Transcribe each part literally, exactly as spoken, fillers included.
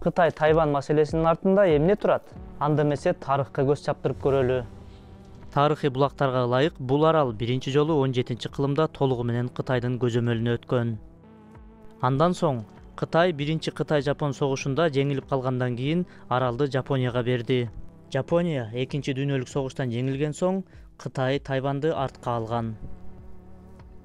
Кытай Тайвань маселесинин артында эмне турат? Анда эмесе тарыхка көз чаптырып көрөлү. Тарыхый булактарга ылайык бул арал биринчи жолу он жетинчи кылымда толугу менен Кытайдын көзөмөлүнө өткөн. Андан соң Кытай биринчи Кытай-Жапон согушунда жеңилип калгандан кийин аралды Жапонияга берди. Жапония экинчи дүйнөлүк согуштан жеңилген соң Кытай Тайваньды артка алган.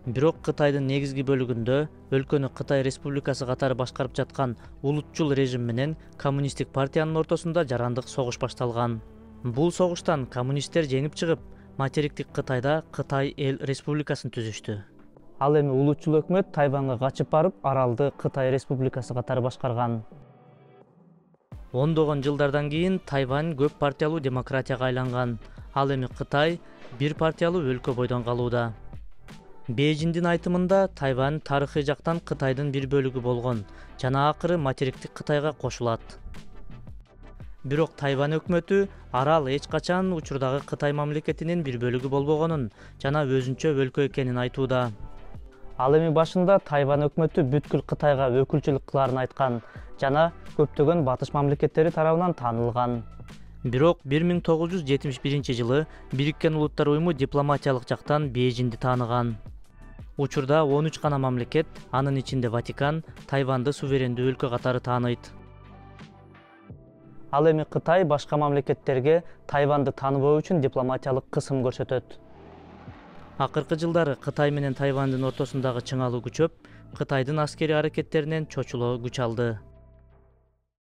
Бирок Кытайдын негизги бөлүгүндө өлкөнү Кытай Республикасы катары башкарып жаткан улутчул режим менен коммунисттик партиянын ортосунда жарандык согуш башталган. Бул согуштан коммунисттер жеңип чыгып, материктик Кытайда Кытай Эл Республикасын түзүштү. Ал эми улутчул өкмөт Тайваньга качып барып, аралды Кытай Республикасы катары башкарган. Ондогон жылдардан кийин Тайвань көп партиялуу демократияга айланган. Ал эми Кытай бир партиялуу өлкө бойдон калууда. Бейжиңдин айтымында Тайвань тарыхый жактан Кытайдын бир бөлүгү болгон жана акыры материктик Кытайга кошулат. Бирок Тайвань өкмөтү арал эч качан учурдагы Кытай мамлекетинин бир бөлүгү болбогонун жана өзүнчө өлкө экенин айтууда. Ал эми башында Тайвань өкмөтү бүткүл Кытайга өкүлчүлүк кыларын айткан жана көптөгөн батыш мамлекеттери тарабынан таанылган. Бирок бир миң тогуз жүз жетимиш биринчи жылы Бириккен Улуттар уюму дипломатиялык жактан Бейжиңди тааныган. Учурда он үч гана мамлекет, анын ичинде Ватикан, Тайваньды суверендүү өлкө катары тааныйт. Ал эми Кытай башка мамлекеттерге Тайваньды тааныбоо үчүн дипломатиялык кысым көрсөтөт. Акыркы жылдары Кытай менен Тайваньдын ортосундагы чыңалуу күчөп, Кытайдын аскери аракеттеринен чочулоо күч алды.